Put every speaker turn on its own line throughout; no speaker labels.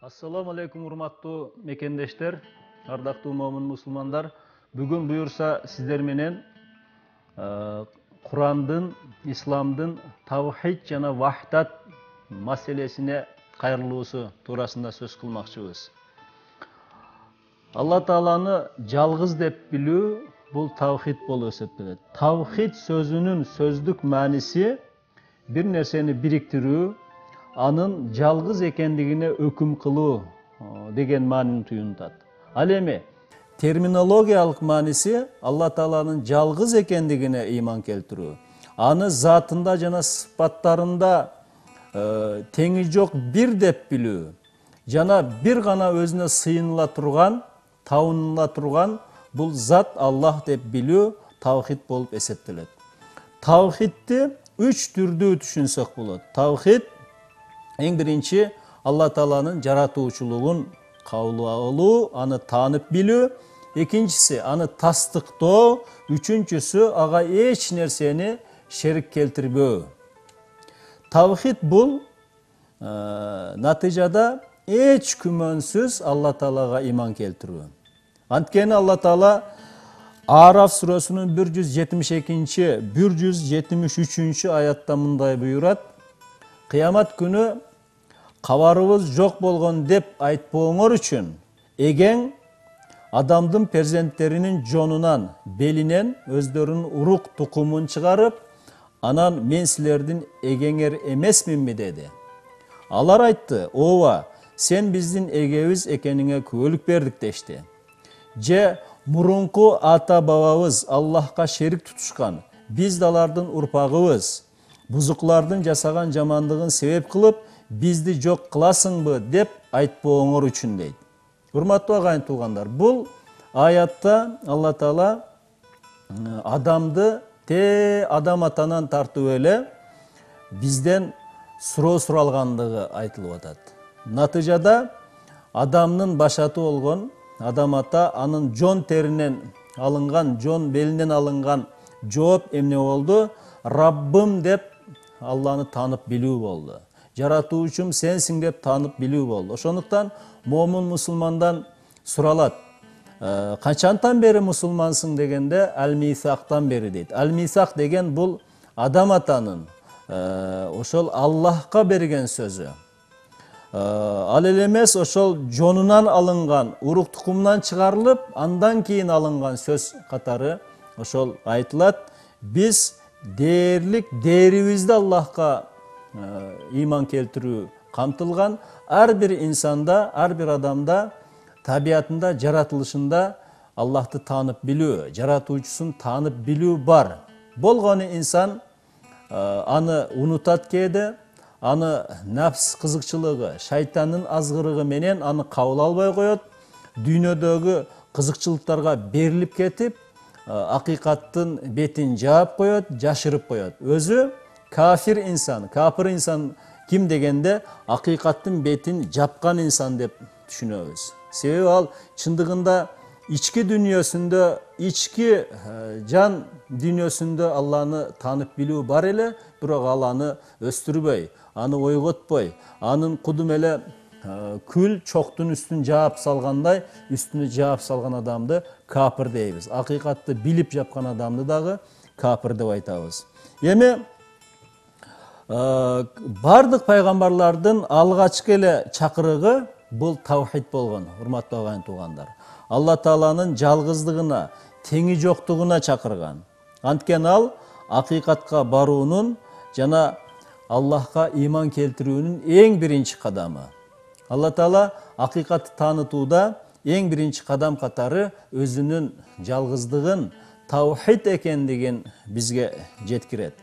Assalamu alaikum урматтуу мекендештер, ардактуу момун мусулмандар. Бүгүн буюрса сиздер менен Курандын, исламдын тавхид жана вахдат маселесине кайрылуусу туурасында сөз кылмакчыбыз. Алла Тааланы жалгыз деп билүү бул тавхид болуп эсептелет. Тавхид сөзүнүн сөздүк мааниси бир нерсени бириктирүү, анын жалгыз экендигине өкүм кылуу деген маанини туюнтат. Ал эми терминологиялык мааниси Алла Тааланын жалгыз экендигине ыйман келтирүү, аны затында жана сыпаттарында теңи жок бир деп билүү, жана бир гана өзүнө сыйыныла турган, табыныла турган бул зат Аллах деп билүү тавхид болуп эсептелет. Тавхидти 3 түрдүү түшүнсөк болот. Тавхид эң биринчи Алла Тааланын жаратуучулугун кабыл алуу, аны таанып билүү, экинчиси аны тастыктоо, үчүнчүсү ага эч нерсени шерик келтирбөө. Тавхид бул натыйжада эч күмөнсүз Алла Таалага ыйман келтирүү. Анткени Алла Таала Араф сүрөсүнүн 172-173 аятта мындай буйрат: Кыямат күнү кабарыбыз жок болгон деп айтпооңор үчүн эгең адамдын перзенттеринин жонунан, белинен өздөрүнүн урук тукумун чыгарып, анан мен силердин эгеңер эмесминби деди. Алар айтты: ооба, сен биздин эгебиз экениңе күбөлүк бердик дешти. Же мурунку ата бабабыз Аллахка шерик тутушкан, биз да алардын урпагыбыз, бузуклардын жасаган жамандыгын себеп кылып бизди жок кыласыңбы деп айтпооңор үчүн дейт. Урматтуу агайын туугандар, бул аятта Алла Таала адамды адам атанан тартып эле бизден суроо суралгандыгы айтылып атат. Натыйжада адамдын башаты болгон адам ата анын жон теринен алынган, жон белинен алынган жооп эмне болду? Раббым деп Алланы таанып билүү болду. Жаратуучум сенсиң деп таанып билүү болду. Ошондуктан момун мусулмандан суралат: качантан бери мусулмансың дегенде ал-мисактан бери дейт. Ал-мисак деген бул адам атанын ошол Аллахка берген сөзү. Ал эле эмес, ошол жонунан алынган, урук тукумунан чыгарылып, андан кийин алынган сөз катары ошол айтылат. Биз дээрлик дээрибизди Аллахка ыйман келтирүү камтылган. Ар бир инсанда, ар бир адамда, табиятында, жаратылышында Аллахты таанып билүү, жаратуучусун таанып билүү бар. Болгону инсан аны унутат кээде, аны нафс кызыкчылыгы, шайтандын азгырыгы менен аны кабыл албай коет, дүйнөдөгү кызыкчылыктарга берилип кетип, акыйкаттын бетин жаап коет, жашырып коет. Өзү кафир инсан ким дегенде акыйкаттын бетин жапкан инсан деп түшүнөбүз. Себеби ал чындыгында ички дүйнөсүндө, ички жан дүйнөсүндө Алланы таанып билүү бар эле, бирок ал аны өстүрбөй, аны ойготпой, анын кудум эле күл чоктун үстүн жаап салгандай, үстүнө жаап салган адамды капыр дейбиз. Акыйкатты билип жапкан адамды дагы капыр деп айтабыз. Эми бардык пайгамбарлардын алгачкы эле чакырыгы бул тавхид болгон, урматтуу агайын туугандар. Алла Тааланын жалгыздыгына, теңи жоктугуна чакырган. Анткени ал акыйкатка баруунун жана Аллахка ыйман келтирүүнүн эң биринчи кадамы. Алла Таала акыйкатты таанытууда эң биринчи кадам катары өзүнүн жалгыздыгын, тавхид экендигин бизге жеткирет.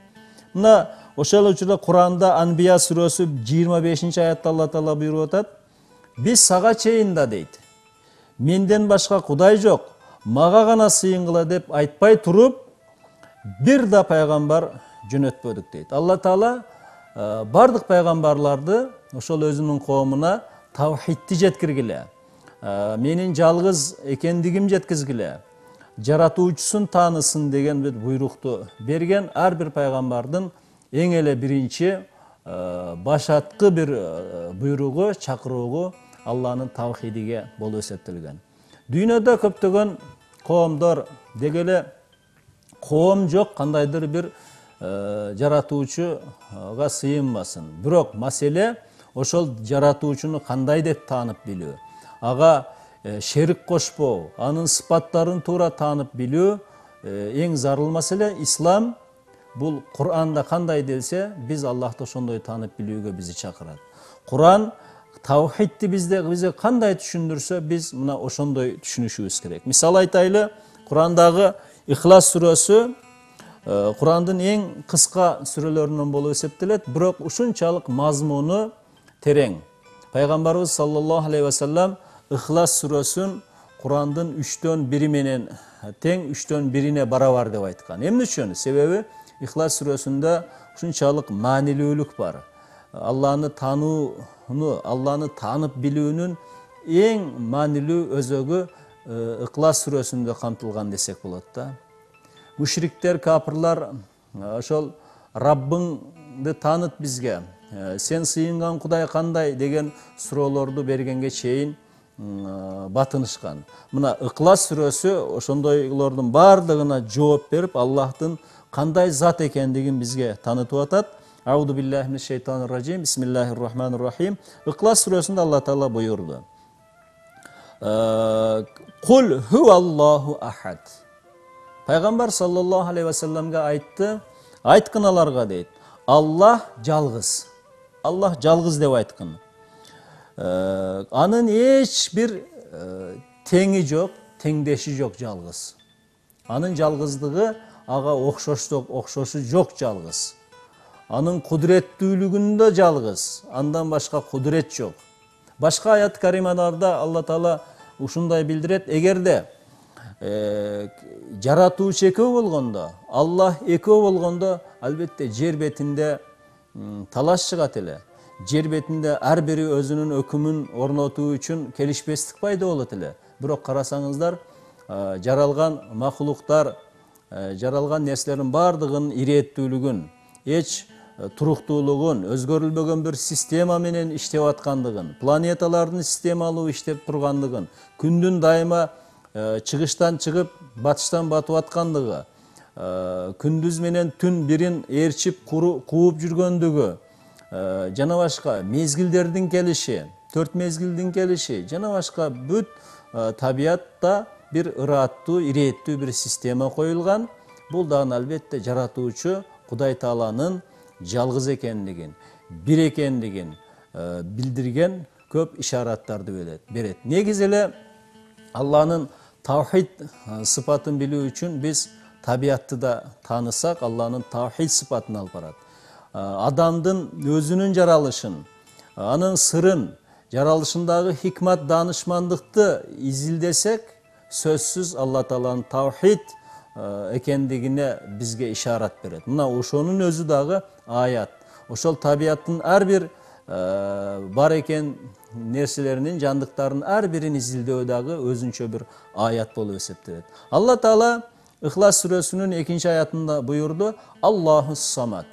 Мына ошол учурда Куранда Анбия сүрөсү 25-аятта Алла Таала буйруп атат: биз сага чейин да дейт, менден башка кудай жок, мага гана сыйынгыла деп айтпай туруп, бир да пайгамбар жөнөтпөдүк дейт. Алла Таала бардык пайгамбарларды ошол өзүнүн коомуна тавхидти жеткиргиле, менин жалгыз экендигим жеткизгиле, жаратуучусун таанысын деген бир буйрукту берген. Ар бир пайгамбардын эң эле биринчи башаткы бир буйругу, чакыруугу Алланын тавхидиге болуп эсептелген. Дүйнөдө көптөгөн коомдор деги эле коом жок, кандайдыр бир жаратуучуга сыйынбасын. Бирок маселе ошол жаратуучуну кандай деп таанып билүү, ага шерик кошпоо, анын сыпаттарын туура таанып билүү эң зарыл маселе. Ислам бул Кур'анда кандай делсе, биз Аллахты ошондой таанып билүүгө бизди чакырат. Кур'ан тавхидти бизге кандай түшүндүрсө, биз мына ошондой түшүнүшүбүз керек. Мисал айтайлы, Кур'андагы Ихлас сүрөсү Кур'андын эң кыска сүрөлөрүнөн болуп эсептелет, бирок ушунчалык мазмуну терең. Пайгамбарыбыз саллаллаху алейхи ва саллям Ихлас сүрөсүн Кур'андын 3/1 менен тең 3/1 барабар деп айткан. Эмне үчүн? Себеби Ихлас сүрөсүндө ушунчалык маанилүүлүк бар. Алланы таанууну, Алланы таанып билүүнүн эң маанилүү өзөгү Ихлас сүрөсүндө камтылган десек болот да. Мушриктер, капырлар ошол Раббыңды тааныт бизге, сен сыйынган Кудай кандай деген суроолорду бергенге чейин батынышкан. Мына Ихлас сүрөсү ошондойлордун бардыгына жооп берип, Аллахтын кандай зат экендигин бизге таанытып атат. Ауду биллахи минаш шайтанир ражим. Бисмиллахир рахманир рахим. Ихлас сүрөсүндө Алла Таала буйурду: Кул хуаллаху ахад. Пайгамбар саллаллаху алейхи ва салламга айтты, айткын аларга дейт, Аллах жалгыз. Аллах жалгыз деп айткын. Анын эч бир теңи жок, теңдеши жок жалгыз. Анын жалгыздыгы ага окшошу жок жалгыз. Анын кудуреттүүлүгүндө жалгыз, андан башка кудурет жок. Башка аят карималарда Алла Таала ушундай билдирет: эгерде жаратуучу экөө болгондо, Аллах экөө болгондо, албетте жер бетинде талаш чыгат эле. Жер бетинде ар бири өзүнүн өкүмүн орнотуу үчүн келишпестик пайда болот эле. Бирок карасаңыздар, жаралган макулуктар, жаралган нерселердин бардыгынын ирээттүүлүгүн, эч туруктуулугун, өзгөрүлбөгөн бир система менен иштеп аткандыгын, планеталардын системалуу иштеп тургандыгын, күндүн дайыма чыгыштан чыгып, батыштан батып аткандыгы, күндүз менен түн бирин ээрчип кууп жүргөндүгү, жана башка мезгилдердин келиши, 4 мезгилдин келиши, жана башка бүт табиятта бир ыраттуу, ирээттүү бир система коюлган. Бул дагы албетте жаратуучу Кудай Тааланын жалгыз экендигин, бир экендигин билдирген көп ишараттарды берет. Негизи эле Алланын тавхид сыпатын билүү үчүн биз табиятты да таанысак, Алланын тавхид сыпатын алып барат. Адамдын өзүнүн жаралышын, анын сырын, жаралышындагы хикмат, данышмандыкты изилдесек, сөзсүз Алла Тааланын тавхид экендигине бизге ишарат берет. Мына ошонун өзү дагы аят. Ошол табияттын ар бир бар экен нерселеринин, жандыктардын ар бирин изилдөө дагы өзүнчө бир аят болуп эсептелет. Алла Таала Ихлас сүрөсүнүн 2-аятында буйурду: Аллахус самад.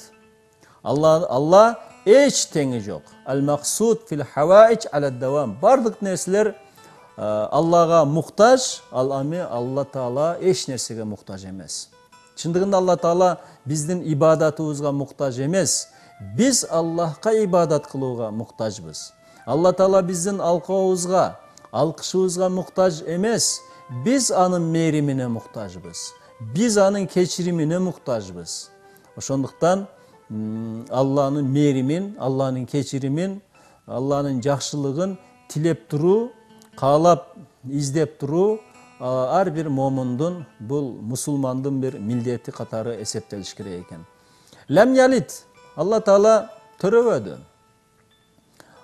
Алла эч теңи жок. Ал-максуд фил хаваич алад-давам. Бардык нерселер Аллага муктаж, ал эми Алла Таала эч нерсеге муктаж эмес. Чындыгында Алла Таала биздин ибадатыбызга муктаж эмес. Биз Аллахка ибадат кылууга муктажбыз. Алла Таала биздин алкообузга, алкышыбызга муктаж эмес. Биз анын мээримине муктажбыз. Биз анын кечиримине муктажбыз. Ошондуктан Алланын мээримин, Алланын кечиримин, Алланын жакшылыгын тилеп туруу, каалап издеп туруу ар бир момундун, бул мусулмандын бир милдети катары эсептелиш керек экен. Лам ялит. Алла Таала төрөбөдү.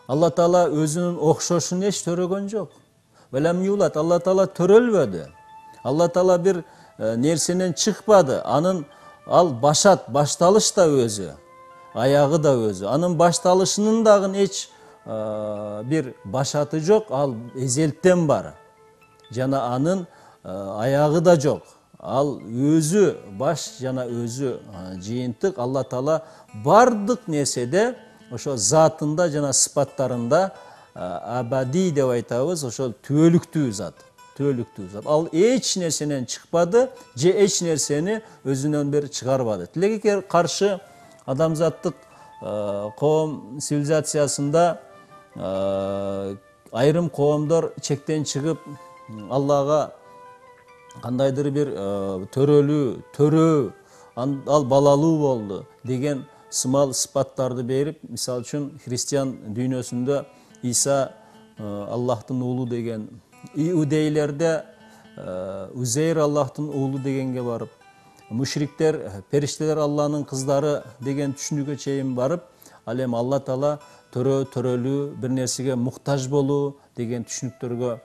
Алла Таала өзүнүн окшошун эч төрөгөн жок. Лам юлат. Алла Таала төрөлбөдү. Алла Таала бир нерсенен чыкпады. Ал башат, башталыш да өзү, аягы да өзү. Анын башталышынын дагы эч бир башаты жок, ал эзелттен бар. Жана анын аягы да жок. Ал өзү баш жана өзү жыйынтык. Алла Таала бардык нерседе, ошо затында жана сыпаттарында абади деп айтабыз, ошол түбөлүктүү зат. Ал эч нерсенен чыкпады же эч нерсени өзүнөн бери чыгарбады. Тилекке каршы адамзаттык коом цивилизациясында айрым коомдор чектен чыгып Аллага кандайдыр бир төрө ал балалуу болду деген сымал сыпаттарды берип, мисалы үчүн христиан дүйнөсүндө Иса Аллахтын уулу деген, иудейлерде Узейр Аллахтын уулу дегенге барып, мушриктер периштелер Алланын кыздары деген түшүнүүгө чейин барып, ал эми Алла Таала төрөлүү, бир нерсеге муктаж болуу деген түшүнүктөргө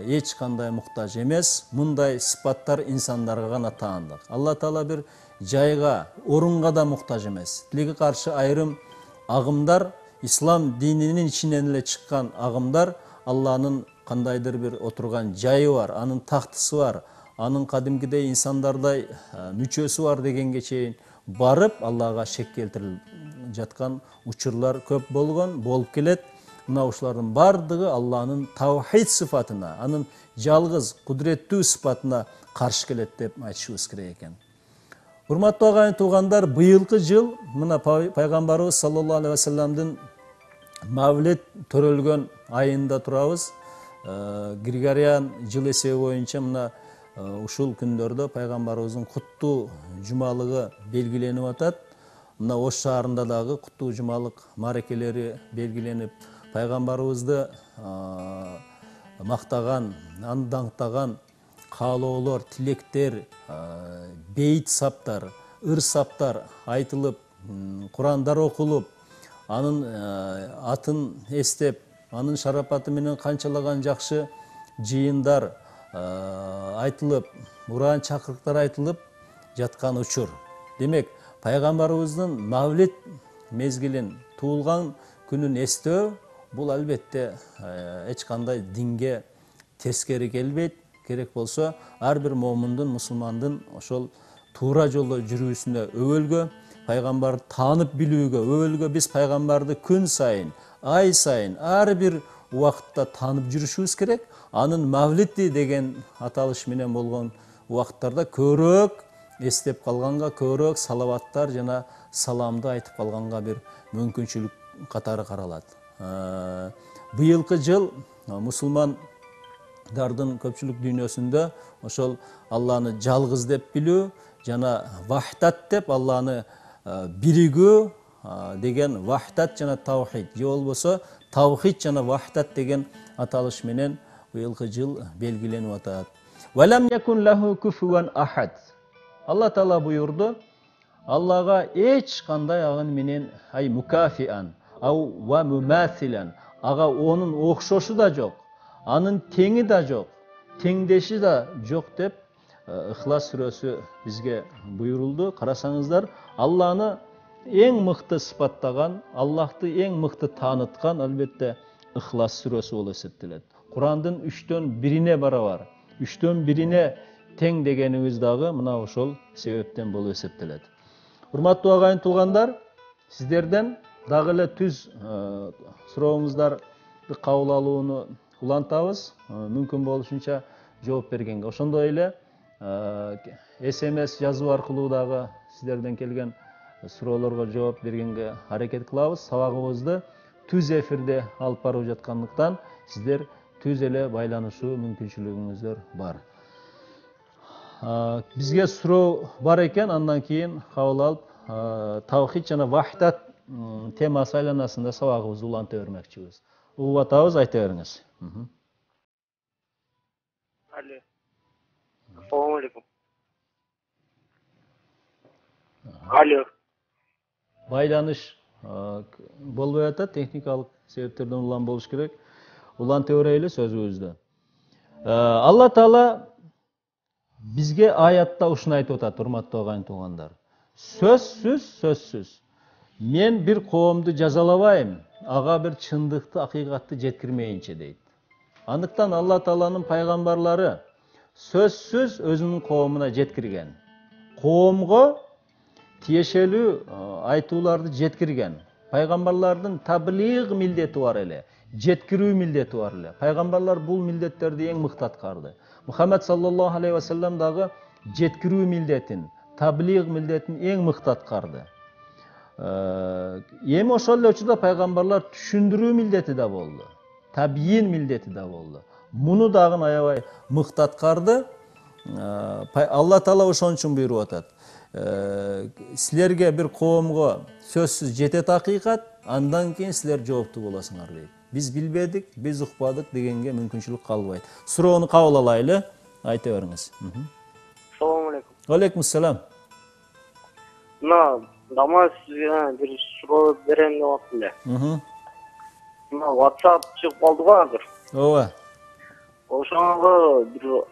эч кандай муктаж эмес. Мындай сыпаттар инсандарга гана таандык. Алла Таала бир жайга, орунга да муктаж эмес. Тилекке каршы айрым агымдар, ислам дининин ичинен эле чыккан агымдар, Алланын кандайдыр бир отурган жайы бар, анын тактысы бар, анын кадимкидей инсандардай мүчөсү бар дегенге чейин барып, Аллага шек келтирилип жаткан учурлар көп болгон, болуп келет. Мына ушулардын бардыгы Алланын тавхид сыфатына, анын жалгыз, кудуреттүү сыфатына каршы келет деп айтышыбыз керек экен. Урматтуу агайын туугандар, быйылкы жыл мына пайгамбарыбыз саллаллаху алейхи ва салламдын мавлид төрөлгөн айында турабыз. Григориан жыл эсеби боюнча мына ушул күндөрдө пайгамбарыбыздын куттуу жумалыгы белгиленип атат. Мына Ош шаарында дагы куттуу жумалык марекелери белгиленип, пайгамбарыбызды мактаган, аны даңктаган каалоолор, тилектер, бейит саптар, ыр саптар айтылып, Курандар окулуп, анын атын эстеп, анын шарапаты менен канчалаган жакшы жыйындар айтылып, уран чакырыктар айтылып жаткан учур. Демек, пайгамбарыбыздын мавлид мезгилин, туулган күнүн эстөө бул албетте эч кандай динге тескери келбейт. Керек болсо ар бир момундун, мусулмандын ошол туура жолдо жүрүүсүнө өбөлгө, пайгамбарды таанып билүүгө өбөлгө, биз пайгамбарды күн сайын, ай сайын, ар бир убакытта таанып жүрүшүбүз керек. Анын мавлиди деген аталыш менен болгон убакыттарда көбүрөөк эстеп калганга, көбүрөөк салаваттар жана саламды айтып калганга бир мүмкүнчүлүк катары каралат. Быйылкы жыл мусулмандардын көпчүлүк дүйнөсүндө ошол Алланы жалгыз деп билүү жана вахдат деп Алланы биригүү деген вахдат жана тавхид, же болбосо тавхид жана вахдат деген аталыш менен быйылкы жыл белгиленип атат. Валам якун лаху куфуан ахад. Алла Таала буйурду, Аллага эч кандай агын менен мукафиан ау ва мумасилан, ага онун окшошу да жок, анын теңи да жок, теңдеши да жок деп Ихлас сүрөсү бизге буйрулду. Карасаңыздар, Алланы эң мыкты сыпаттаган, Аллахты эң мыкты тааныткан албетте Ихлас сүрөсү болуп эсептелет. Курандын 3/1 барабар, 3/1 тең дегенибиз дагы мына ошол себептен болуп эсептелет. Урматтуу агайын туугандар, сиздерден дагы эле түз сурооңуздарды кабыл алууну улантабыз, мүмкүн болушунча жооп бергенге. Ошондой эле SMS жазуу аркылуу дагы сиздерден келген суроолорго жооп бергенге аракет кылабыз. Сабагыбызды түз эфирде алып барып жаткандыктан сиздер түз эле байланышуу мүмкүнчүлүгүңүздөр бар. Бизге суроо бар экен, андан кийин кабыл алып, тавхид жана вахдат темасы айланасында сабагыбызды уланта бермекчибиз. Угуп атабыз, айта бериңиз.
Алло. Assalamu alaikum. Алло.
Байланыш болбой атат, техникалык себептерден улам болуш керек. Уланта берели сөзүбүздү. Алла Таала бизге аятта ушуну айтып атат, урматтуу агайын туугандар. Сөзсүз. Мен бир коомду жазалабайм, ага бир чындыкты, акыйкатты жеткирмейинче дейт. Андыктан Алла Тааланын пайгамбарлары сөзсүз өзүнүн коомуна жеткирген. Коомго тиешелүү айтууларды жеткирген. Пайгамбарлардын таблиг милдети бар эле, жеткирүү милдети бар эле. Пайгамбарлар бул милдеттерди эң мыкты аткарды. Мухаммед саллаллаху алейхи вассалам дагы жеткирүү милдетин, таблиг милдетин эң мыкты аткарды. Эми ошол эле учурда пайгамбарлар түшүндүрүү милдети да болду. Табийин милдети да болду. Муну дагы аябай мыкты аткарды. Алла Таала ошон үчүн буйруп атат. Силерге бир коомго сөзсүз жетет акыйкат, андан кийин силер жооптуу болосуңар дейт. Биз билбедик, биз укпадык дегенге мүмкүнчүлүк калбайт. Суроону кабыл алайлы. Айта бериңиз.
Assalamu alaikum.
Алейкум ассалам.
Дама сизге бир суроо берем деп атам эле. WhatsApp чыгып калды го азыр.
Ооба.
Ошого бир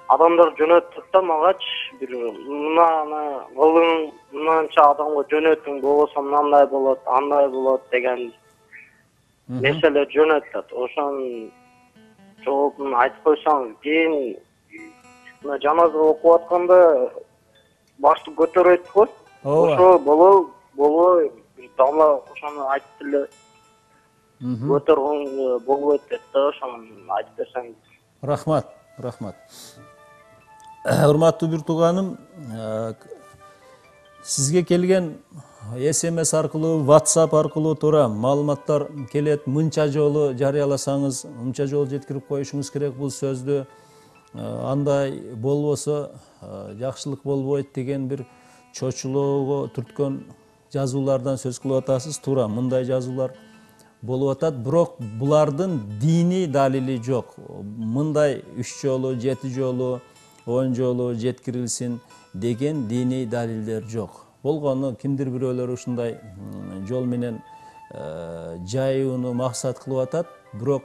адамдар жөнөттүк да магач бир мынаны кылың, мынанча адамга жөнөтүң, болбосо мындай болот, андай болот деген нерселер жөнөтөт. Ошонун жообун айтып койсоң, кийин мына жаназа окуп атканда башты көтөрөйт го. Ошо болобу бир дамла ошону айтып эле көтөргөн болбойт деп да, ошону айтып берсең.
Рахмат. Урматтуу бир тууганым, сизге келген SMS аркылуу, WhatsApp аркылуу туура маалыматтар келет. Мынча жолу жарыяласаңыз, мынча жолу жеткирип коюшуңуз керек бул сөздү. Андай болбосо жакшылык болбойт деген бир чочулоого түрткөн жазуулардан сөз кылып атасыз. Туура, мындай жазуулар болуп атат, бирок булардын диний далили жок. Мындай 3 жолу, 7 жолу, 10 жолу жеткирилсин деген диний далилдер жок. Болгону кимдир бирөөлөр ушундай жол менен жайууну максат кылып атат, бирок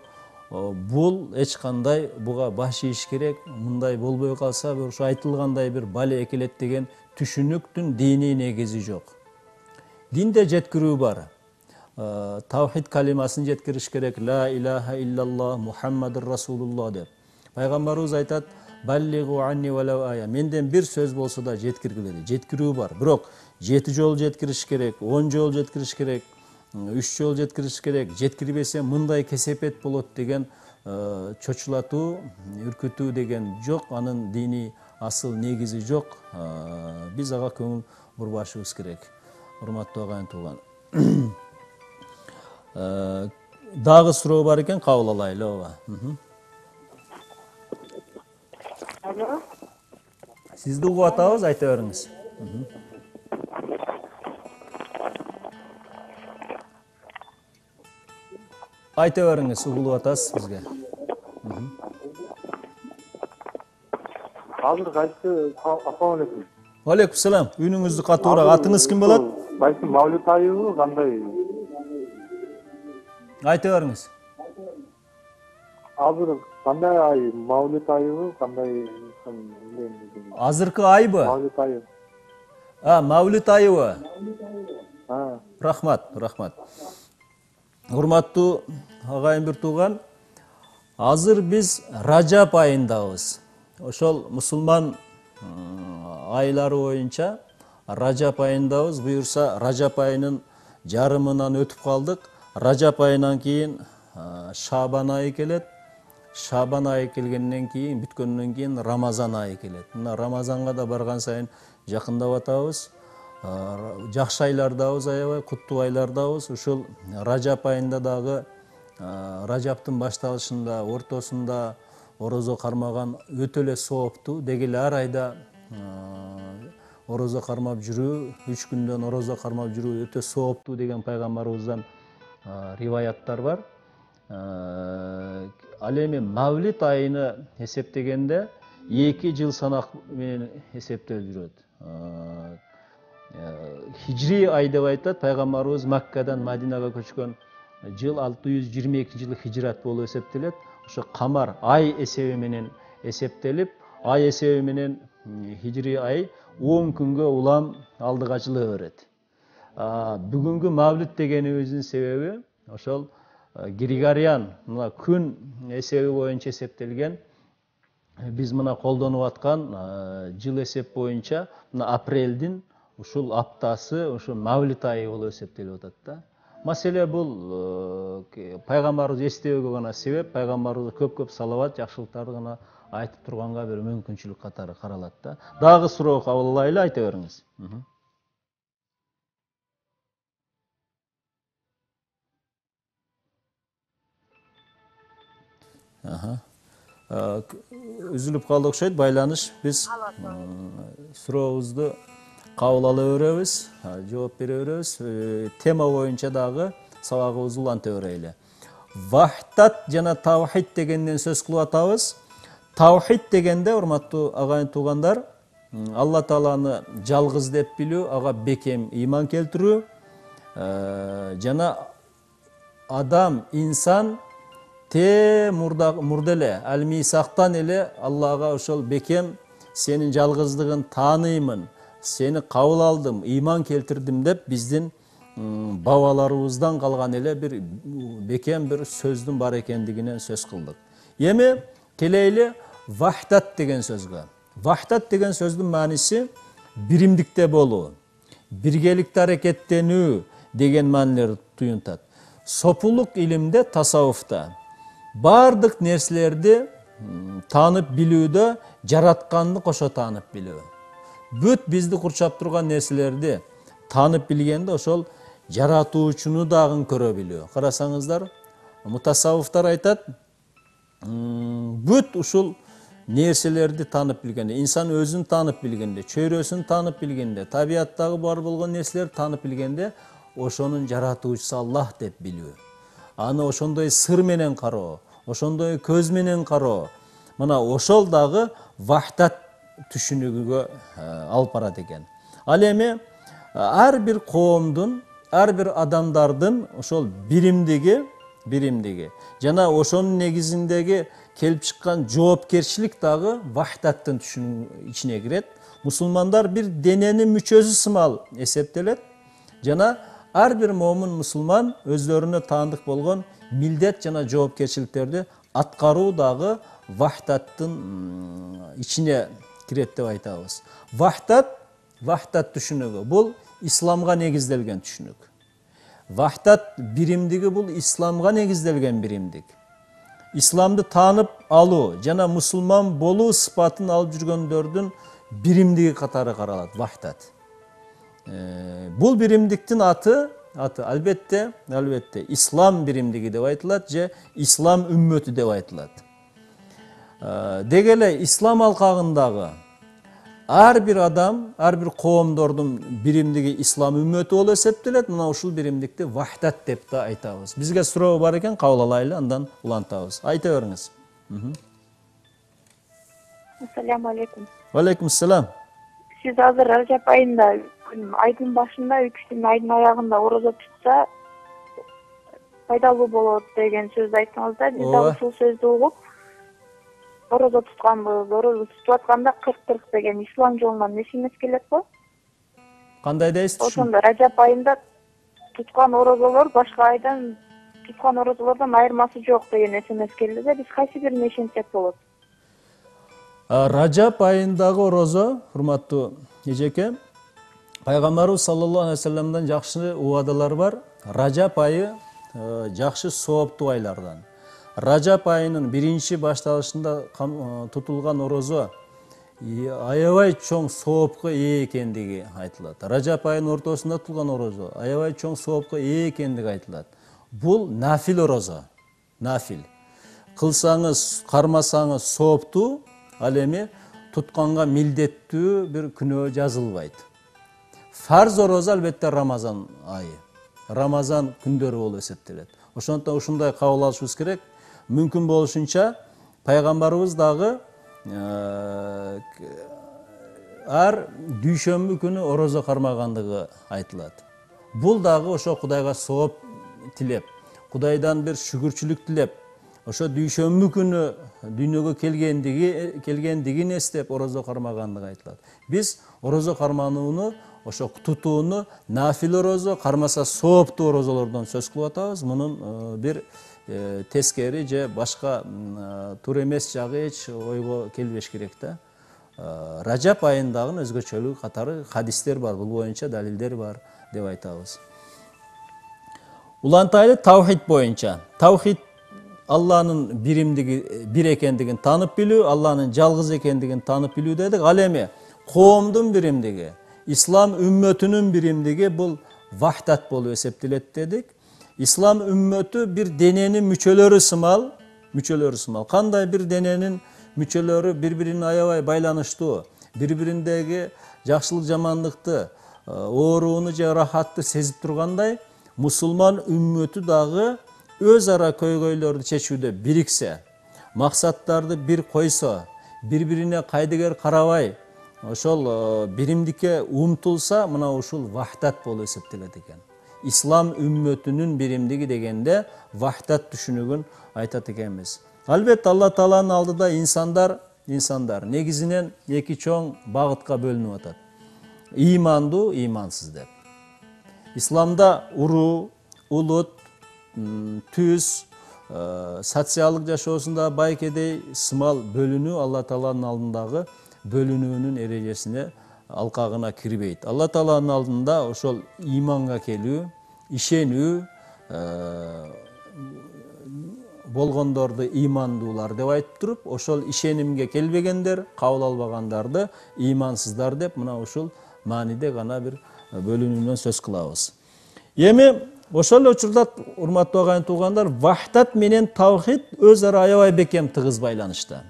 бул эч кандай буга баш ийиш керек. Мындай болбой калса, ушу айтылгандай бир бале экелет деген түшүнүктүн диний негизи жок. Динде жеткирүү бар. Тавхид калимасын жеткириш керек. Ла илаха иллаллах Мухаммадур Расулуллах деп. Пайгамбарыбыз айтат: "Баллигу анни валау ая". Менден бир сөз болсо да жеткиргиле. Жеткирүү бар. Бирок 7 жол жеткириш керек, 10 жол жеткириш керек, 3 жол жеткириш керек. Жеткирбесе мындай кесепет болот деген чочулатуу, үркүтүү деген жок. Анын диний асыл негизи жок. Биз ага көңүл бурбашыбыз керек. Урматтуу агайын тууган. Дагы суроо бар экен, кабыл алайлы. Ооба.
Алло.
Сизди угуп атабыз, айта бериңиз. Айта бериңиз, угулуп атасыз бизге.
Азыр кайсы? Ассалам алейкум.
Алейкум салам. Үнүңүздү катуураак. Атыңыз ким болот?
Кайсы Мавлид айыбы кандай?
Айта бериңиз.
Азыр кандай ай? Мавлид айыбы кандай?
Азыркы айбы?
Мавлид айыбы.
Мавлид айыбы. Рахмат. Урматтуу агайын бир тууган, азыр биз Ражап айындабыз. Ошол мусулман айлары боюнча Ражап айындабыз. Буюрса Ражап айынын жарымынан өтүп калдык. Ражап айынан кийин Шабан айы келет. Шабан айы келгенден кийин, бүткөндөн кийин Рамазан айы келет. Мына Рамазанга да барган сайын жакындап атабыз. Жакшы айлардабыз, аябай куттуу айлардабыз. Ушул Ражап айында дагы Ражаптын башталышында, ортосунда орозо кармаган өтө эле сооптуу. Деги эле ар айда орозо кармап жүрүү, 3 күндөн орозо кармап жүрүү өтө сооптуу деген пайгамбарыбыздан риваяттар бар. Ал эми Мавлид айыны эсептегенде 2 жыл санак менен эсептелип жүрөт. Хижри ай деп айтат. Пайгамбарыбыз Маккадан Мадинага көчкөн жыл 622-жылы хижрат болуп эсептелет. Ошо камар ай эсеби менен эсептелип, ай эсеби менен хижри ай 10 күнгө улам алдыга жыла берет. Бүгүнкү Мавлид дегенибиздин себеби ошол Григориан, мына күн эсеби боюнча эсептелген. Биз мына колдонуп аткан жыл эсеп боюнча мына апрелдин ушул аптасы ошо Мавлид айы болуп эсептелип атат да. Маселе бул пайгамбарыбыз эстөөгө гана себеп, пайгамбарыбызга көп салават, жакшылыктарды гана айтып турганга бир мүмкүнчүлүк катары каралат да. Дагы суроо кабыл алайлы, айта бериңиз. Үзүлүп калды окшойт байланыш. Биз сурообузду кабыл ала беребиз, жооп бере беребиз. Тема боюнча дагы сабагыбызды уланта берели. Вахтат жана тавхид дегенден сөз кылып атабыз. Тавхид дегенде, урматтуу агайын туугандар, Алла Тааланы жалгыз деп билүү, ага бекем ыйман келтирүү, жана адам, инсан мурда эле аль-мисактан эле Аллага ошол бекем сенин жалгыздыгын тааныймын, сени кабыл алдым, ыйман келтирдим деп биздин бабаларыбыздан калган эле бир бекем бир сөздүн бар экендигинен сөз кылдык. Эми келейли вахтат деген сөзгө. Вахтат деген сөздүн мааниси биримдикте болуу, биргеликте аракеттенүү деген маанилерди туюнтат. Сопулук илимде, тасаввуфта бардык нерселерди таанып билүүдө жаратканды кошо таанып билүү. Бүт бизди курчап турган нерселерди таанып билгенде ошол жаратуучуну дагы көрө билүү. Карасаңыздар, мутасаввуфтар айтат, бүт ушул нерселерди таанып билгенде, инсан өзүн таанып билгенде, чөйрөсүн таанып билгенде, табияттагы бар болгон нерселерди таанып билгенде, ошонун жаратуучусу Аллах деп билүү. Аны ошондой сыр менен кароо, ошондой көз менен кароо. Мына ошол дагы вахтат түшүнүгүгө алып барат экен. Ал эми ар бир коомдун, ар бир адамдардын ошол биримдиги жана ошонун негизиндеги келип чыккан жоопкерчилик дагы вахтаттын түшүнүгүнүн ичине кирет. Мусулмандар бир дененин мүчөсү сымал эсептелет жана ар бир момун мусулман өздөрүнө таандык болгон милдет жана жоопкерчиликтерди аткаруу дагы вахтаттын ичине кирет деп айтабыз. Вахтат түшүнүгү бул исламга негизделген түшүнүк. Вахтат биримдиги бул исламга негизделген биримдик. Исламды таанып алуу жана мусулман болуу сыпатын алып жүргөндөрдүн биримдиги катары каралат вахтат. Бул биримдиктин аты албетте ислам биримдиги деп айтылат же ислам үммөтү деп айтылат. Деги эле ислам алкагындагы ар бир адам, ар бир коомдордун биримдиги ислам үммөтү болуп эсептелет. Мына ушул биримдикти вахтат деп да айтабыз. Бизге суроо бар экен, кабыл алайлы, андан улантабыз. Айта бериңиз.
Ассаламу алейкум.
Алейкум ассалам.
Сиз азыр Ражап айында, айдын башында, 3 күн айдын аягында орозо тутса пайдалуу болот деген сөздү айттыңыз да. Биз дагы ушул сөздү угуп орозо тутканбыз. Орозо тутуп атканда 40 деген ислам жолунан неше эмес келет го?
Кандай дейсиз?
Ошондо Ражап айында туткан орозолор башка айдан туткан орозолордон айырмасы жок деген СМС келди да. Биз кайсы бирине ишенсек болот?
Ражап айындагы орозо, урматтуу эжеке, пайгамбарыбыз саллаллаху алейхи вассаламдан жакшы убадалар бар. Ражап айы жакшы сооптуу айлардан. Ражап айынын биринчи башталышында тутулган орозо аябай чоң соопко ээ экендиги айтылат. Ражап айынын ортосунда тутулган орозо аябай чоң соопко ээ экендиги айтылат. Бул нафил орозо. Нафил. Кылсаңыз, кармасаңыз сооптуу, ал эми тутканга милдеттүү бир күнөө жазылбайт. Фарз орозо албетте Рамазан айы. Рамазан күндөрү болуп эсептелет. Ошондон ушундай кабыл алышыбыз керек. Мүмкүн болушунча пайгамбарыбыз дагы ар дүйшөмбү күнү орозо кармагандыгы айтылат. Бул дагы ошо Кудайга сооп тилеп, Кудайдан бир шүгүрчүлүк тилеп, ошо дүйшөмбү күнү дүйнөгө келгендигин эстеп орозо кармагандыгы айтылат. Биз орозо карманууну, ошо тутууну нафил орозо, кармаса сооптуу орозолордон сөз кылып атабыз. Мунун бир тескери же башка туура эмес жагы эч ойго келбеш керек да. Ражап айындагы өзгөчөлүгү катары хадистер бар, бул боюнча далилдер бар деп айтабыз. Улантайлы тавхид боюнча. Тавхид Алланын биримдиги, бир экендигин таанып билүү, Алланын жалгыз экендигин таанып билүү дедик. Ал эми коомдун биримдиги, ислам үммөтүнүн биримдиги бул вахдат болуп эсептелет дедик. Ислам үммөтү бир дененин мүчөлөрү сымал. Кандай бир дененин мүчөлөрү бири-бирине аябай байланыштуу, бири-бириндеги жакшылык жамандыкты, ооруну же рахатты сезип тургандай, мусулман үммөтү дагы өз ара көйгөйлөрдү чечүүдө бириксе, максаттарды бир койсо, бири-бирине кайдыгер карабай, ошол биримдикке умтулса, мына ушул вахдат болуп эсептелет экен. Ислам үммөтүнүн биримдиги дегенде вахдат түшүнүгүн айтат экенбиз. Албетте Алла Тааланын алдыда инсандар негизинен эки чоң багытка бөлүнүп атат. Ыймандуу, ыймансыз деп. Исламда уруу, улут, түз, социалдык жашоосунда байкедей сымал бөлүнүү Алла Тааланын алдындагы бөлүнүүнүн эрежесине алкагына кирбейт. Алла Тааланын алдында ошол ыйманга келүү, ишенүү, болгондорду ыймандуулар деп айтып туруп, ошол ишенимге келбегендер, кабыл албагандарды ыймансыздар деп мына ушул мааниде гана бир бөлүнүүнөн сөз кылабыз. Эми ошол учурда урматтуу агайын туугандар, вахдат менен тавхид өз ара аябай бекем тыгыз байланышта.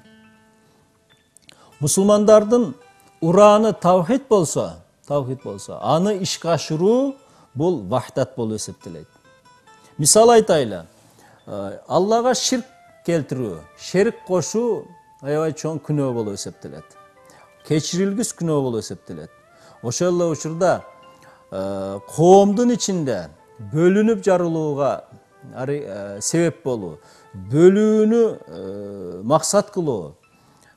Мусулмандардын урааны тавхид болсо, аны ишке ашыруу бул вахдат болуп эсептелет. Мисал айтайлы, Аллага ширк келтирүү, шерик кошуу аябай чоң күнөө болуп эсептелет. Кечирилгис күнөө болуп эсептелет. Ошол эле учурда коомдун ичинде бөлүнүп жарылууга себеп болуу, бөлүүнү максат кылуу,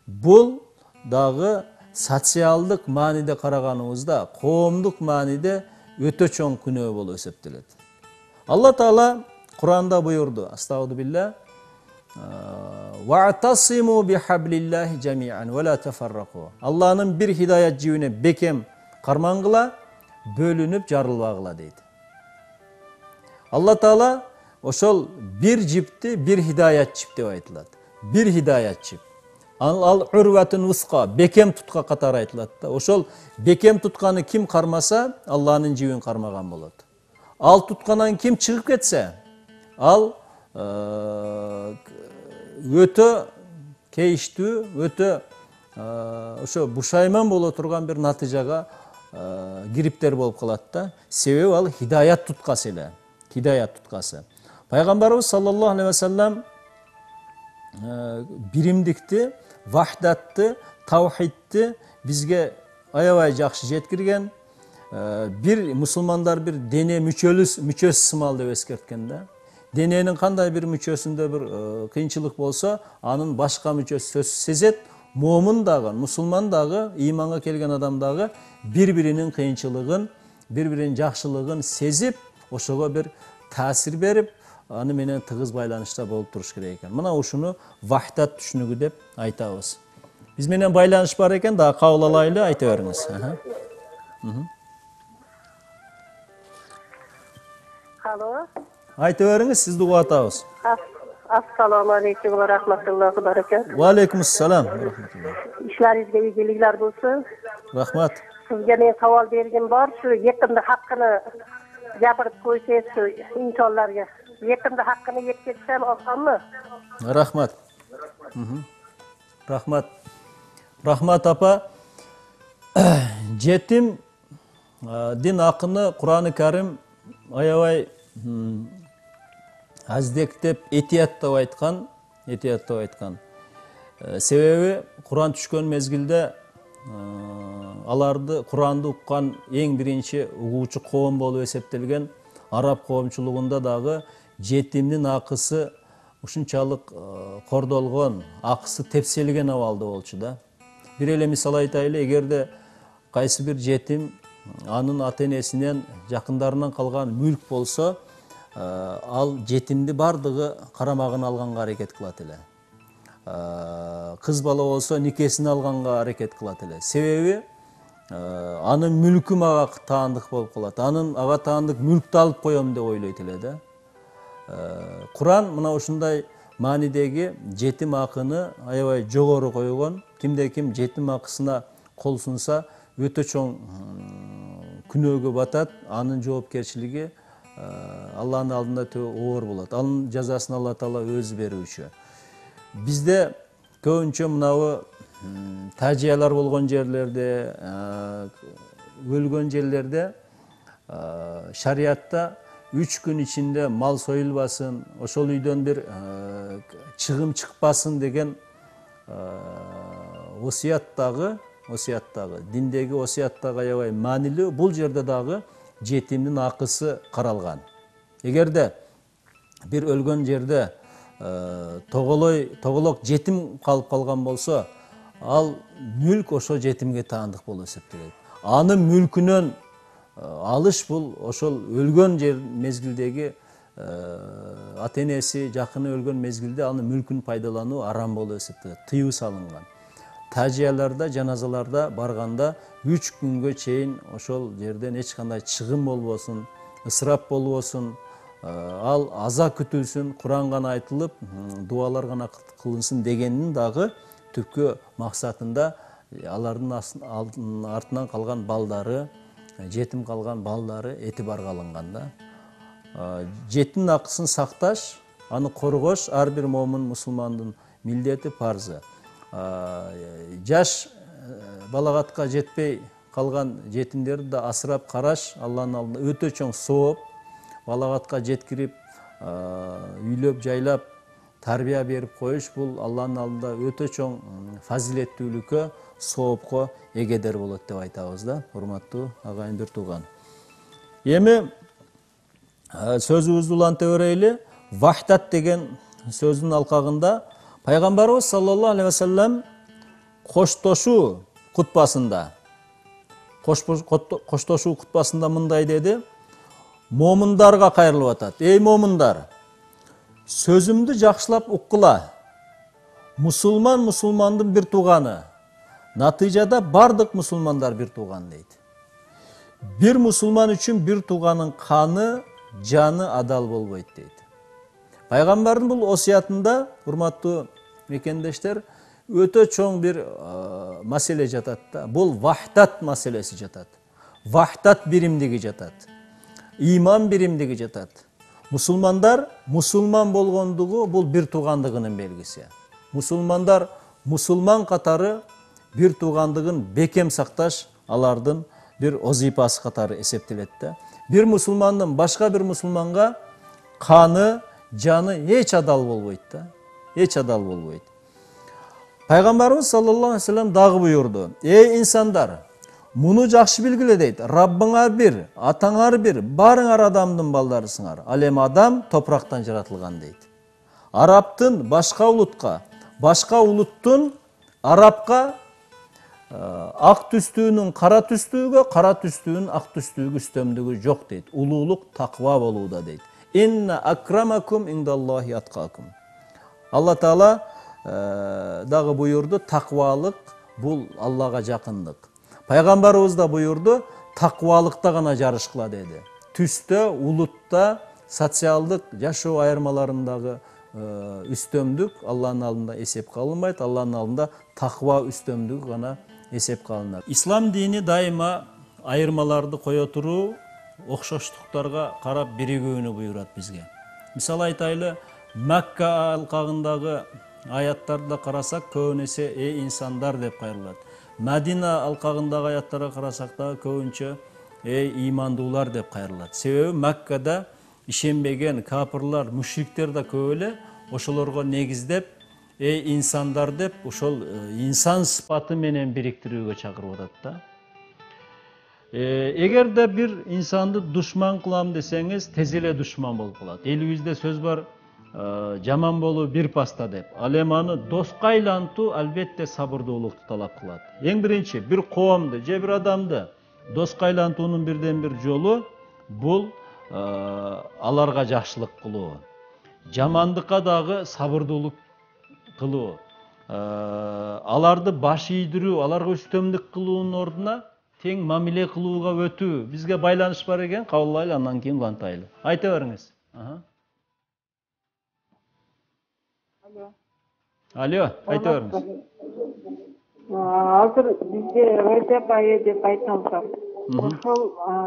бул дагы социалдык мааниде караганыбызда, коомдук мааниде өтө чоң күнөө болуп эсептелет. Алла Таала Куранда буйурду, астагфирулла, «Ва'тасиму бихаблиллахи жами'ан ва ла тафаррaqu». Алланын бир хидаят жибине бекем кармангыла, бөлүнүп жарылбагыла дейт. Алла Таала ошол бир жипти бир хидаят жип деп айтылат. Бир хидаят жип. Ал урватун усқа, бекем тутка катары айтылат да. Ошол бекем тутканы ким кармаса, Алланын жибин кармаган болот. Ал тутканан ким чыгып кетсе, ал өтө кейиштүү, өтө ошо бушайман боло турган бир натыйжага кириптер болуп калат да. Себеби ал хидаят туткасы эле. Хидаят туткасы. Пайгамбарыбыз саллаллаху алейхи ва саллям биримдикти, вахдатты, тавхидти бизге аябай жакшы жеткирген. Бир мусулмандар бир дене мүчөсү сымал деп эскерткен да. Дененин кандай бир мүчөсүндө бир кыйынчылык болсо, анын башка мүчөсү сезет. Момун дагы, мусулман дагы, ыйманга келген адам дагы бири-биринин кыйынчылыгын, бири-биринин жакшылыгын сезип, ошого бир таасир берип, аны менен тыгыз байланышта болуп туруш керек экен. Мына ушуну вахдат түшүнүгү деп айтабыз. Биз менен байланыш бар экен, дагы кабыл алайлы, айта бериңиз.
Алло.
Айта бериңиз, сизди угуп атабыз.
Ассаламу алейкум ва рахматуллахи ва баракатух.
Ва алейкум ассалам.
İşlerinizge iyilikler bulsun.
Rahmat.
Sizge men savol bergim bor, shu yaqinda haqqini gapirib qo'ysangiz shu insonlarga. Yaqinda haqqini yetkazsam osonmi?
Rahmat. Rahmat. Rahmat apa. Жетим дин акыны Кур'ан-ы Карим аябай аздектеп этияттап айткан. Себеби Кур'ан түшкөн мезгилде аларды Кур'анды уккан эң биринчи угуучу коом болуп эсептелген араб коомчулугунда дагы жетимдин акысы ушунчалык кордолгон, акысы тепселген абалда болчу да. Бир эле мисал айтайлы, эгерде кайсы бир жетим анын ата-энесинен, жакындарынан калган мүлк болсо, ал жетимди бардыгы карамагына алганга аракет кылат эле. Кыз бала болсо никесин алганга аракет кылат эле. Себеби анын мүлкү мага таандык болуп калат. Ага таандык мүлктү алып коем деп ойлойт эле да. Куран мына ушундай маанидеги жетим акыны аябай жогору койгон. Кимде ким жетим акысына кол сунса өтө чоң күнөөгө батат. Анын жоопкерчилиги Алланын алдында оор болот. Анын жазасын Алла Таала өзү берүүчү. Бизде көбүнчө мынабы тажиялар болгон жерлерде, өлгөн жерлерде шариатта 3 күн ичинде мал союлбасын, ошол үйдөн бир чыгым чыкпасын деген осуяттагы диндеги осуяттагы аябай маанилүү. Бул жерде дагы жетимдин акысы каралган. Эгерде бир өлгөн жерде тоголок жетим калып калган болсо, ал мүлк ошо жетимге таандык болуп эсептелет. Анын мүлкүнөн алыш бул ошол өлгөн жер мезгилдеги ата энеси, жакыны өлгөн мезгилде анын мүлкүн пайдалануу арам болуп эсептелет, тыюу салынган. Тажияларда, жаназаларда барганда 3 күнгө чейин ошол жерден эч кандай чыгым болбосун, ысырап болбосун, ал аза күтүлсүн, Куран гана айтылып, дуалар гана кылынсын дегендин дагы түпкү максатында алардын артынан калган балдары, жетим калган балдары этибарга алынган да. Жетимдин акысын сакташ, аны коргош ар бир момун мусулмандын милдети, парзы. Жаш балагатка жетпей калган жетимдерди да асырап караш Алланын алдында өтө чоң сооп. Балагатка жеткирип, үйлөп, жайлап, тарбия берип коюш бул Алланын алдында өтө чоң фазилеттүүлүккө, соопко эгедер болот деп айтабыз да, урматтуу агайын бир тууган. Эми сөзүбүздү уланта берели. Вахдат деген сөздүн алкагында пайгамбарыбыз саллаллаху алейхи ва саллям коштошуу кутбасында мындай деди: момундарга кайрылып атат. Эй момундар, сөзүмдү жакшылап уккула. Мусулмандын бир тууганы. Натыйжада бардык мусулмандар бир тууган дейт. Бир мусулман үчүн бир тууганын каны, жаны адал болбойт дейт. Пайгамбардын бул осуятында, урматтуу мекендештер, өтө чоң бир маселе жатат да. Бул вахдат маселеси жатат. Вахдат биримдиги жатат. Иман биримдиги жатат. Мусулмандар мусулман болгондугу бул бир туугандыгынын белгиси. Мусулмандар мусулман катары бир туугандыгын бекем сакташ алардын бир озипасы катары эсептелет да. Бир мусулмандын башка бир мусулманга каны, жаны эч адал болбойт да. Эч адал болбойт. Пайгамбарыбыз саллаллаху алейхи ва саллям дагы буйурду: "Эй инсандар, муну жакшы билгиле" дейт. "Раббыңар бир, атаңар бир, барыңар адамдын балдарысыңар. Ал эми адам топурактан жаратылган" дейт. Арабтын башка улутка, башка улуттун арабка ак түстүүнүн кара түстүүгө, кара түстүүнүн ак түстүүгө үстөмдүгү жок дейт. Улуулук таква болууда дейт. Инна акрамакум индаллахи аткакум. Алла Таала дагы буйурду: таквалык бул Аллага жакындык. Пайгамбарыбыз да буйурду: таквалыкта гана жарышкыла деди. Түстө, улутта, социалдык жашоо айырмаларындагы үстөмдүк Алланын алдында эсепке алынбайт. Алланын алдында таква үстөмдүгү гана эсепке алынат. Ислам дини дайыма айырмаларды кое туруу, окшоштуктарга карап биригүүнү буйрат бизге. Мисалы айтайлы, Макка алкагындагы аяттарда карасак, көбүн эсе "эй инсандар" деп кайрылат. Мадина алкагындагы аяттарга карасак да көбүнчө "эй имандуулар" деп кайрылат. Себеби Маккада ишенбеген капырлар, мушриктер да көп эле, ошолорго негиздеп "эй инсандар" деп ошол инсан сыпаты менен бириктирүүгө чакырып атат да. Эгерде бир инсанды душман кылам десеңиз, тез эле душман болуп калат. Элибизде сөз бар: жаман болуу бир паста деп. Ал эми аны доска айлантуу албетте сабырдуулукту талап кылат. Эң биринчи бир коомду же бир адамды доска айлантуунун бирден бир жолу бул аларга жакшылык кылуу. Жамандыкка дагы сабырдуулук кылуу. Аларды баш ийдирүү, аларга үстөмдүк кылуунун ордуна тең мамиле кылууга өтүү. Бизге байланыш бар экен, кабыл алайлы, андан кийин улантайлы. Айта бериңиз. Алло, айта бериңиз.
Азыр бизде Рajab айы деп айтылса, ошол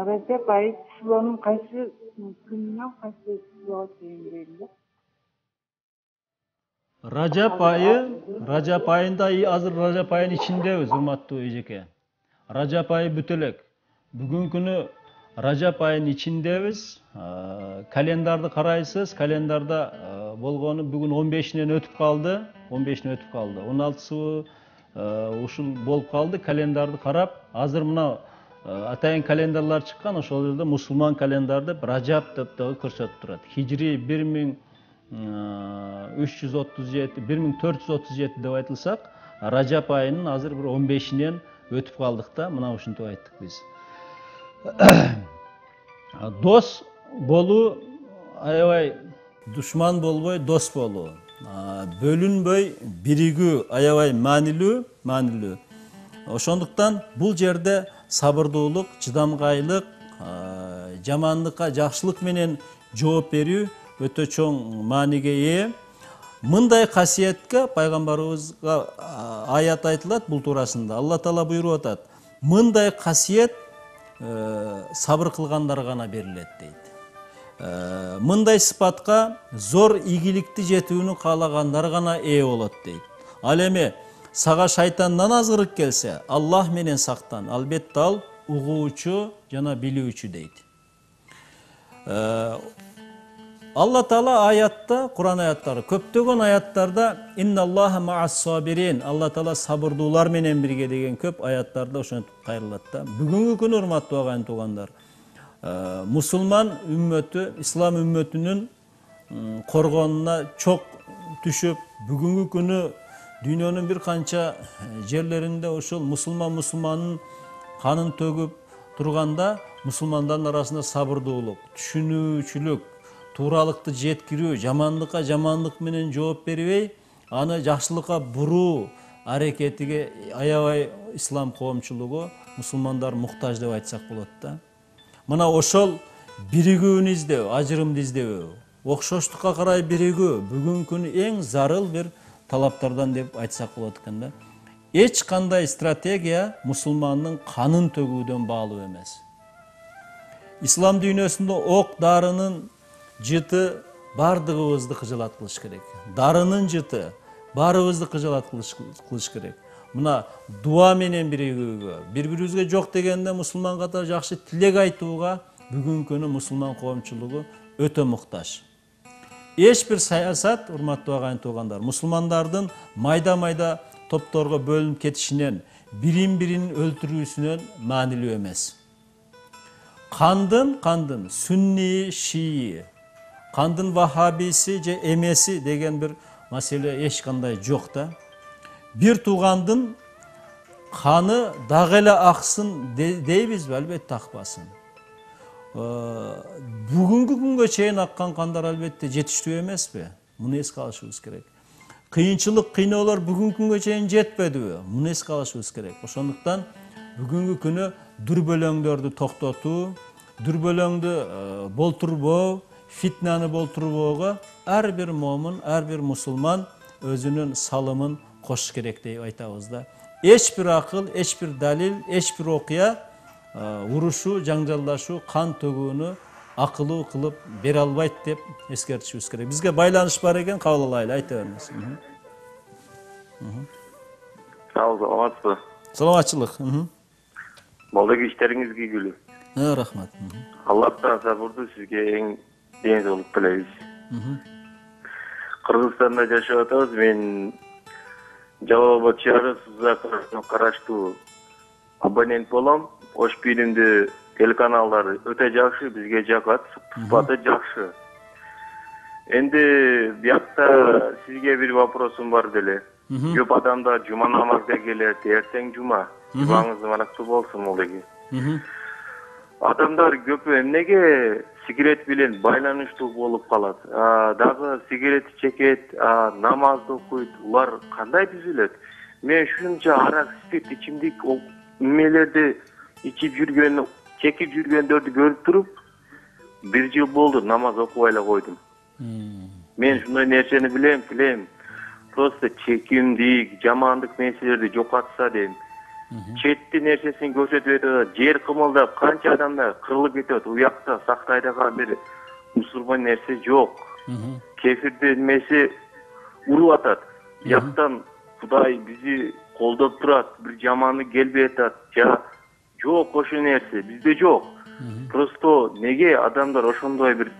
Rajab айы числонун кайсы күнүнөн кайсы числого чейин дейли?
Rajab айында азыр Rajab айынын ичиндебиз, урматтуу эжеке. Rajab айы бүтө элек. Бүгүнкү күнү Rajab айынын ичиндебиз. Календарды карайсыз, календарда болгону бүгүн 15-нен өтүп калды. 16-сы ушул болуп калды. Календарды карап, азыр мына атайын календарлар чыккан, ошол жерде мусулман календар деп Rajab деп дагы көрсөтүп турат. Хижри 1437 деп айтылсак, Rajab айынын азыр бир 15-нен өтүп калдык да, мына ушинтип айттык биз. Дос болуу, аябай душман болбой дос болуу. Бөлүнбөй биригүү аябай маанилүү. Ошондуктан бул жерде сабырдуулук, чыдамкайлык, жамандыкка жакшылык менен жооп берүү өтө чоң мааниге ээ. Мындай касиетке пайгамбарыбызга аят айтылат бул туурасында. Алла Таала буйруп атат: мындай касиет сабыр кылгандар гана берилет дейт. Мындай сыпатка зор ийгиликти жетүүнү каалагандар гана ээ болот дейт. Ал эми сага шайтандан азгырык келсе, Аллах менен сактан. Албетте ал угуучу жана билүүчү дейт. Алла Таала аятта, Кур'ан аяттары, көптөгөн аяттарда инналлаха ма'ас-сабирин, Алла Таала сабырдуулар менен бирге деген көп аяттарда ошентип кайрылат да. Бүгүнкү күнү урматтуу агайын туугандар, мусулман үммөтү, ислам үммөтүнүн коргонуна чок түшүп, бүгүнкү күнү дүйнөнүн бир канча жерлеринде ошол мусулмандын канын төгүп турганда, мусулмандардын арасында сабырдуулук, түшүнүүчүлүк, тууралыкты жеткирүү, жамандыкка жамандык менен жооп бербей, аны жакшылыкка буруу аракетиге аябай ислам коомчулугу, мусулмандар муктаж деп айтсак болот да. Мына ошол биригүүнү издөө, ажырымды издөө, окшоштукка карай биригүү бүгүнкү күнү эң зарыл бир талаптардан деп айтсак болот экен да. Эч кандай стратегия мусулмандын канын төгүүдөн баалуу эмес. Ислам дүйнөсүндө ок дарынын жыты бардыгыбызды кыжалат кылыш керек. Дарынын жыты баарыбызды кыжалат кылыш керек. Мына дуа менен биригүүгө, бири-бирибизге жок дегенде мусулман катары жакшы тилек айтууга бүгүнкү күнү мусулман коомчулугу өтө муктаж. Эч бир саясат, урматтуу агайын туугандар, мусулмандардын майда-майда топторго бөлүнүп кетишинен, бирин-бирин өлтүрүүсүнөн маанилүү эмес. Кандын сунни, шии, кандын вахабиси же эмеси деген бир маселе эч кандай жок да. Бир туугандын каны дагы эле аксын дейбизби? Албетте акпасын. Бүгүнкү күнгө чейин аккан кандар албетте жетиштүү эмеспи? Муну эске алышыбыз керек. Кыйынчылык, кыйноолор бүгүнкү күнгө чейин жетпедиби? Муну эске алышыбыз керек. Ошондуктан бүгүнкү күнү дүрбөлөңдөрдү токтотуу, дүрбөлөңдү болтурбоо, фитнаны болтурбоого ар бир момун, ар бир мусулман өзүнүн салымын кошуш керек деп айтабыз да. Эч бир акыл, эч бир далил, эч бир окуя урушуу, жаңжалдашуу, кан төгүүнү акылуу кылып бере албайт деп эскертишибиз керек. Бизге байланыш бар экен, кабыл алайлы, айта бериңиз.
Саламатсызбы?
Саламатчылык.
Балдагы иштериңиз ийгилүү.
Рахмат.
Аллахтан сабырды сизге эң деңиз тилейбиз. Кыргызстанда жашап атабыз. Мен Жалал Абад шаары Сузакына караштуу абонент болом. Ош фильмди телеканалдары өтө жакшы, бизге жагат, сыпаты жакшы. Энди биякта сизге бир вопросум бар деле. Көп адамдар жума намазга келет, эртең жума. Жумаңыз барактуу болсун молеги. Адамдар көпү эмнеге сигарет менен байланыштуу болуп калат? Дагы сигарет чекет, намазды окуйт. Улар кандай түзүлөт? Мен ушунча арак, спирт, ичимдик эмелерди ичип жүргөн, чекип жүргөндөрдү көрүп туруп, 1 жыл болду намаз окубай эле койдум. Мен ушундай нерсени билем. просто чекимдик, жамандык нерселерди жокотса дейм. Четти нерсесин көрсөтүп атат, жер кымылдап, канча адамдар кырылып кетет. Уякта Сактайдагы бир мусулман нерсе жок. Кефирдин немеси уруп атат. Жактан Кудай бизи колдоп турат, бир жамандык келбей атат. Жок ошол нерсе, бизде жок. Просто неге адамдар ошондой бир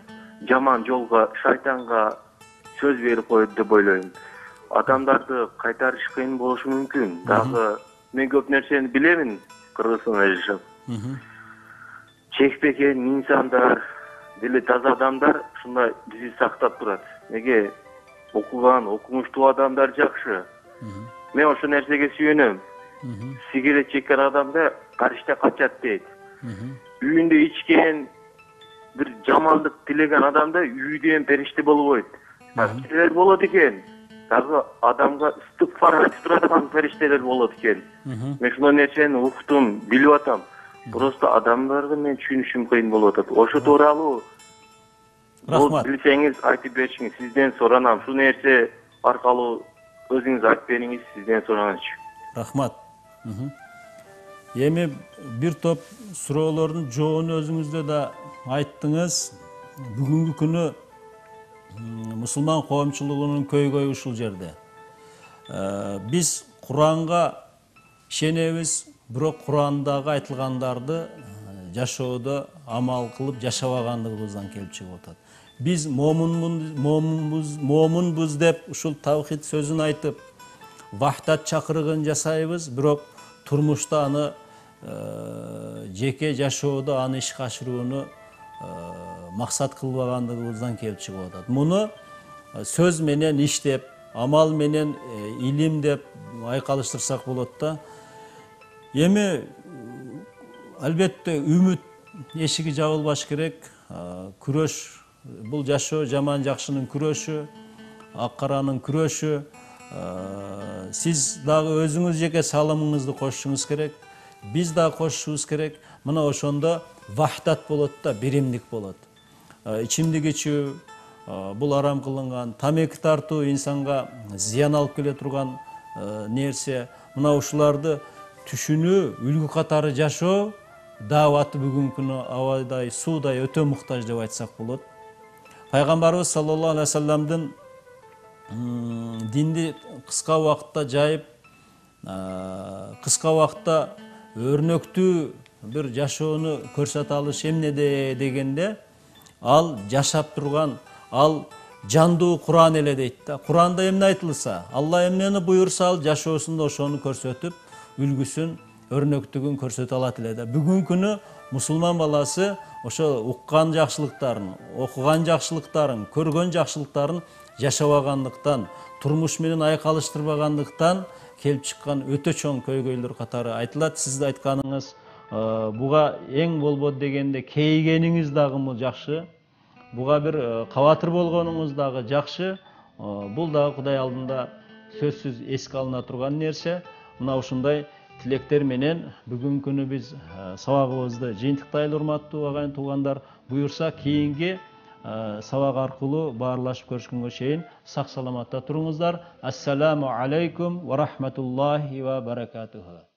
жаман жолго, шайтанга сөз берип коет деп ойлойм. Адамдарды кайтарыш кыйын болушу мүмкүн. Дагы мен көп нерсени билемин Кыргызстанда жашап. Чекпеген инсандар, дили таза адамдар ушундай бизди сактап турат. Неге окуган, окумуштуу адамдар жакшы. Мен ошол нерсеге сүйөнөм. Сигарет чеккен адамда карышта качат дейт. Үйүндө ичкен, бир жамандык тилеген адамда үйдөн периште болбойт. Периштелер болот экен. Дагы адамга истигфар айтып турат периштелер болот экен. Мен ушул нерсени уктум, билип атам. Просто адамдарды мен түшүнүшүм кыйын болуп атат. Ошо тууралуу
Рахмат.
Билсеңиз айтып беришиңиз, сизден соранам. Ушул нерсе аркылуу өзүңүз айтып бериңиз, сизден сураганчы.
Рахмат. Эми бир топ суроолордун жообун өзүңүздө да айттыңыз. Бүгүнкү күнү мусулман коомчулугунун көйгөйү ушул жерде. Биз Куранга ишенебиз, бирок Курандагы айтылгандарды жашоодо амал кылып жашабагандыгыбыздан келип чыгып атат. Биз момунбуз деп ушул тавхид сөзүн айтып, вахдат чакырыгын жасайбыз, бирок турмушта аны жеке жашоодо аны ишке ашырууну максат кылбагандыгыбыздан келип чыгып атат. Муну сөз менен иштеп, амал менен илим деп айкалыштырсак болот да. Эми албетте үмүт эшиги жабылбаш керек. Күрөш, бул жашоо жаман жакшынын күрөшү, ак каранын күрөшү. Сиз дагы өзүңүз жеке салымыңызды кошушуңуз керек. Биз дагы кошушубуз керек. Мына ошондо вахдат болот да, биримдик болот. Ичимдик ичүү бул арам кылынган, тамеки тартуу инсанга зыян алып келе турган нерсе. Мына ушуларды түшүнүү, үлгү катары жашоо дааваты бүгүнкү күнү абайдай, суудай өтө муктаж деп айтсак болот. Пайгамбарыбыз саллаллаху алейхи вассаламдын динди кыска убакытта жайып, кыска убакытта өрнөктүү бир жашоону көрсөтө алыш эмнеде дегенде, ал жашап турган, ал жандуу Куран эле дейт да. Куранда эмне айтылса, Алла эмнени буйрса, ал жашоосунда ошону көрсөтүп, үлгүсүн, өрнөктүгүн көрсөтө алат эле да. Бүгүнкү күнү мусулман баласы ошо уккан жакшылыктарын, окуган жакшылыктарын, көргөн жакшылыктарын жашабагандыктан, турмуш менен айкалыштырбагандыктан келип чыккан өтө чоң көйгөйлөр катары айтылат. Сиз айтканыңыз буга эң болбоду дегенде кейгениңиз дагы жакшы. Буга бир кабатыр болгонуңуз дагы жакшы. Бул дагы Кудай алдында сөзсүз эске алына турган нерсе. Мына ушундай тилектер менен бүгүнкү күнү биз сабагыбызды жыйынтыктайлы, урматтуу агайын туугандар. Буюрса кийинки сабак аркылуу баарлашып көрүшкөнгө чейин сак саламатта туруңуздар. Ассаламу алейкум ва рахматуллахи ва баракатуху.